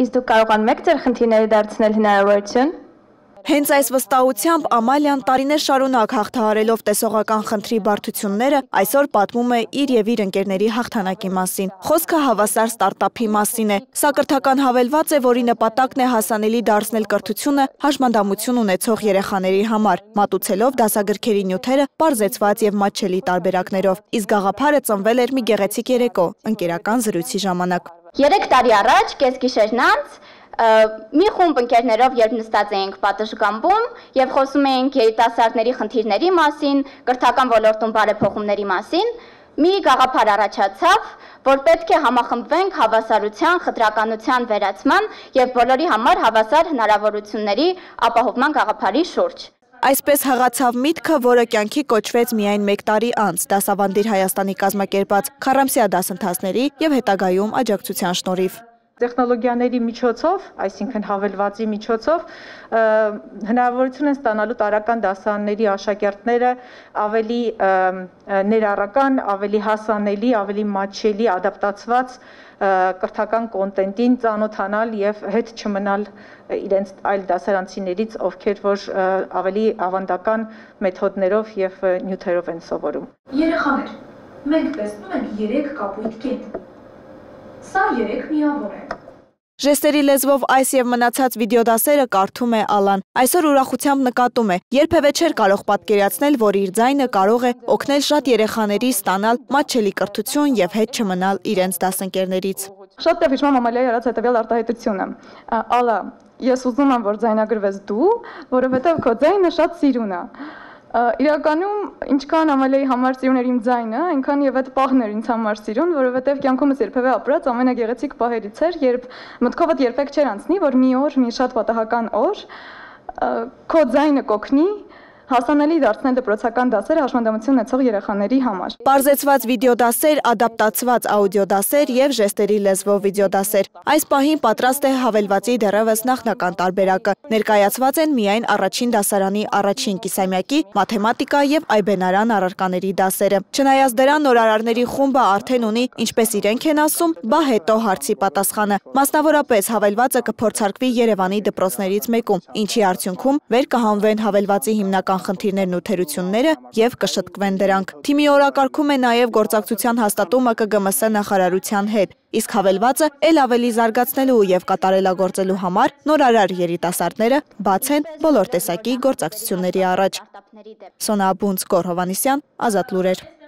Իսկ դուք կարողանում եք ձեր խնդիրները դարձնել հնարավորություն։ Հենց այս վստահությամբ Ամալիան տարիներ շարունակ հաղթահարելով տեսողական խնդրի բարդությունները այսօր պատմում է իր եւ իր ընկերների հաղթանակի մասին։ Խոսքը հավասար ստարտափի մասին է։ Սա կրթական հավելված է, որի նպատակն է հասանելի դարձնել կրթությունը հաշմանդամություն ունեցող երեխաների համար, մատուցելով դասագրքերի նյութերը պարզեցված եւ մատչելի տարբերակներով։ Իսկ գաղափարը ծնվել էր մի գեղեցիկ երեկո, ընկերական զրույցի ժամանակ։ 3 տարի առաջ կեսգիշերն անց մի խումբ ընկերներով երբ նստած էինք պատշգամբում եւ խոսում էինք երիտասարդների խնդիրների մասին, կրթական ոլորտում բարեփոխումների մասին, մի գաղափար առաջացավ, որ պետք է համախմբվենք հավասարության, խտրականության վերացման եւ բոլորի համար հավասար հնարավորությունների ապահովման գաղափարի շուրջ։ Այսպես հղացավ միտքը, որը կյանքի կոչվեց միայն 1 տարի անց Դասավանդիր Հայաստանի կազմակերպած քառամսյա դասընթացների եւ հետագայում աջակցության շնորհիվ։ Տեխնոլոգիաների միջոցով, այսինքն հավելվածի միջոցով, հնարավորություն են ստանալու տարրական դասարանների աշակերտները ավելի ներառական, ավելի հասանելի, ավելի մատչելի, ադապտացված կրթական կոնտենտին ծանոթանալ եւ հետ չմնալ իրենց այլ դասարանցիներից, ովքեր որ ավելի ավանդական մեթոդներով եւ նյութերով են սովորում։ Երեխաներ, մենք տեսնում ենք 3 կապույտ կետ։ Սա 3 միավոր է։ Ժեստերի լեզվով այս եւ մնացած վիդեոդասերը կարդում է Ալան։ Այսօր ուրախությամբ նկատում է, երբևէ չէր կարող պատկերացնել, որ իր ձայնը կարող է օգնել շատ երեխաների ստանալ մատչելի կրթություն եւ հետ չմնալ իրենց դասընկերներից։ Շատ տեղ հիշում եմ Ամալիայի արած հետեւյալ արտահայտությունը։ Ալա, ես ուզում եմ, որ ձայնագրվես դու, որովհետեւ քո ձայնը շատ սիրուն է։ Իրականում ինչքան Ամալիայի համար սիրուն էր իմ ձայնը, այնքան եւ այդ պահն էր ինձ համար սիրուն, որովհետեւ կյանքումս երբևէ ապրած ամենագեղեցիկ պահերից էր, երբ մտքովդ երբեք չէր անցնի, որ մի օր, մի շատ պատահական օր քո ձայնը կօգնի հասանելի դարձնել դպրոցական դասերը հաշմանդամություն ունեցող երեխաների համար։ Պարզեցված վիդեոդասեր, ադապտացված աուդիոդասեր եւ ժեստերի լեզվով վիդեոդասեր։ Այս պահին պատրաստ է հավելվածի դեռևս նախնական տարբերակը։ Ներկայացված են միայն առաջին դասարանի առաջին կիսամյակի մաթեմատիկա եւ այբենարան առարկաների դասերը։ Չնայած դրան նորարարների խումբը արդեն ունի, ինչպես իրենք են ասում, բա հետո հարցի պատասխանը։ Մասնավորապես հավելվածը կփորձարկվի Երևանի դպրոցներից մեկում, ինչի արդյունքում վեր կհանվեն հավելվածի հիմնական խնդիրներն ու թերությունները եւ կշտկվեն դրանք։ Թիմի օրակարգում է նաեւ գործակցության հաստատումը ԿԳՄՍ նախարարության հետ, իսկ հավելվածը ել ավելի զարգացնելու եւ կատարելագործելու համար նորարար երիտասարդները բաց են բոլոր տեսակի գործակցությունների առաջ։ Սոնա Բունց, Գոռ Հովհաննիսյան, Ազատ լուրեր։